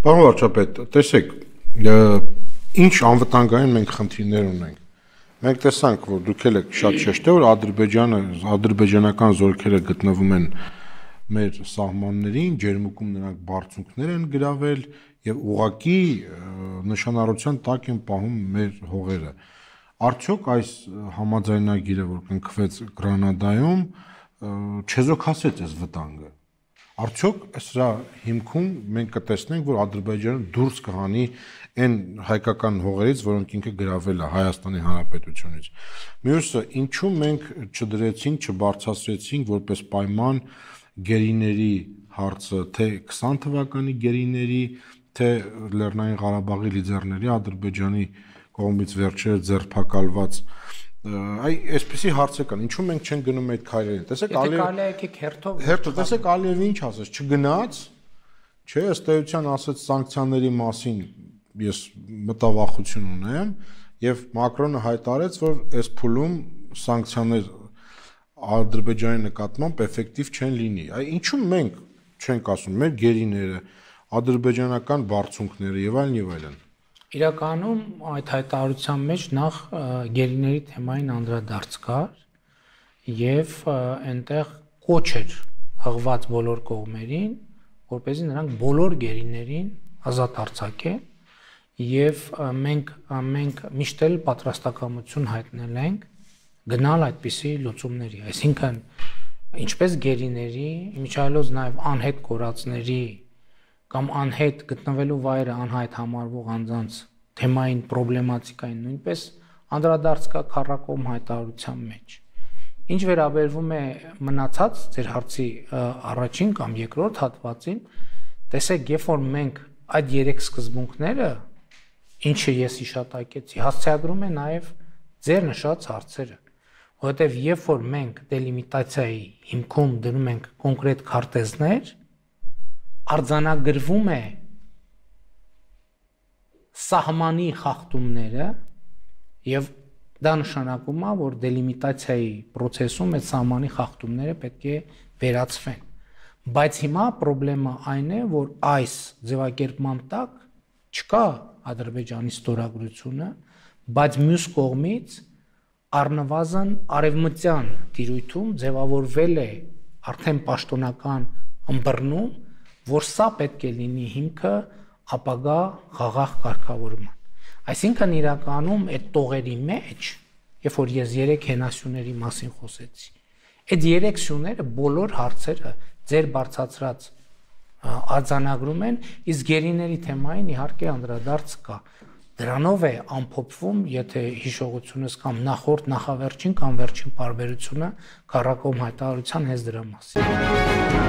Պարոն վարչապետ, տեսեք, ինչ անվտանգային մենք խնդիրներ ունենք։ Մենք տեսանք, որ դուք էլ եք շատ շեշտել, որ ադրբեջանական զորքերը գտնվում են մեր սահմաններին, ջերմուկում նրանք բարձունքներ են գրավել եւ ուղղակի նշանառության տակ են պահում մեր հողերը։ Արդյոք այս համաձայնագիրը, որ կնքվեց Գրանադայում, չեզոքացեց այս վտանգը։ Արդյոք սրա հիմքում մենք կտեսնենք, որ Ադրբեջանը դուրս կհանի այն հայկական հողերից, որոնք ինքը գրավել է Հայաստանի Հանրապետությունից։ Մյուսը, ինչու մենք չդրեցինք, չբարձրացրեցինք որպես պայման գերիների հարցը, թե 20 թվականի գերիների, թե Լեռնային Ղարաբաղի լիդերների Ադրբեջանի կողմից վերջերս ձերբակալված այսպեսի հարցեր կան, ինչու մենք չենք գնում այդ քայլերին։ Տեսեք, տեսեք Ալիևը ինչ ասաց, չգնաց, չէ, ըստ էության ասաց սանկցիաների մասին ես մտավախություն ունեմ, եւ Մակրոնը հայտարարեց, որ այս փուլում սանկցիաներ Ադրբեջանի նկատմամբ էֆեկտիվ չեն լինի։ Ինչու մենք չենք ասում, մեր գերիները, ադրբեջանական բարձունքները եւ այլն։ Իրականում այդ հայտարարության մեջ նախ գերիների թեմային անդրադարձ կար եւ այնտեղ կոչ էր հղված բոլոր կողմերին, որպեսզի նրանք բոլոր գերիներին ազատ արձակեն եւ մենք միշտ էլ պատրաստակամություն հայտնել ենք գնալ այդպիսի լուծումների, այսինքն ինչպես գերիների, իմիջիայլոց նաեւ անհետ կորածների կամ անհետ գտնվելու վայրը անհայտ համարվող անձանց թեմային պրոբլեմատիկային նույնպես անդրադարձ կա քառակողմ հայտարարության մեջ։ Ինչ վերաբերվում է մնացած ձեր հարցի առաջին կամ երկրորդ հատվածին, տեսեք, երբ որ մենք այդ երեք սկզբունքները, ինչը ես հիշատակեցի, հասցեագրում է նաև ձեր նշած հարցերը, որովհետև երբ որ մենք դելիմիտացիայի հիմքում դնում ենք կոնկրետ քարտեզներ, արձանագրվում է սահմանի խախտումները եւ դա նշանակում է, որ դելիմիտացիայի process-ում այդ սահմանի խախտումները պետք է վերացվեն։ Բայց հիմա խնդրեմը այն է, որ այս ձևակերպման տակ չկա Ադրբեջանի ստորագրությունը, բայց մյուս կողմից առնվազն արևմտյան տիրույթում ձևավորվել է արդեն պաշտոնական ըմբռնում, որ սա պետք է լինի հիմքը ապագա խաղաղ կարգավորման։ Այսինքն իրականում այդ տողերի մեջ, երբ որ ես 3 հենասյուների մասին խոսեցի, այդ 3 սյուները բոլոր հարցերը ձեր բարձրացրած արձանագրում են, իսկ գերիների թեմային իհարկե անդրադարձ կա։ Դրանով է ամփոփվում, եթե հիշողությունս կամ նախորդ, նախավերջին կամ վերջին պարբերությունը քառակողմ հայտարարության հենց դրա մասին։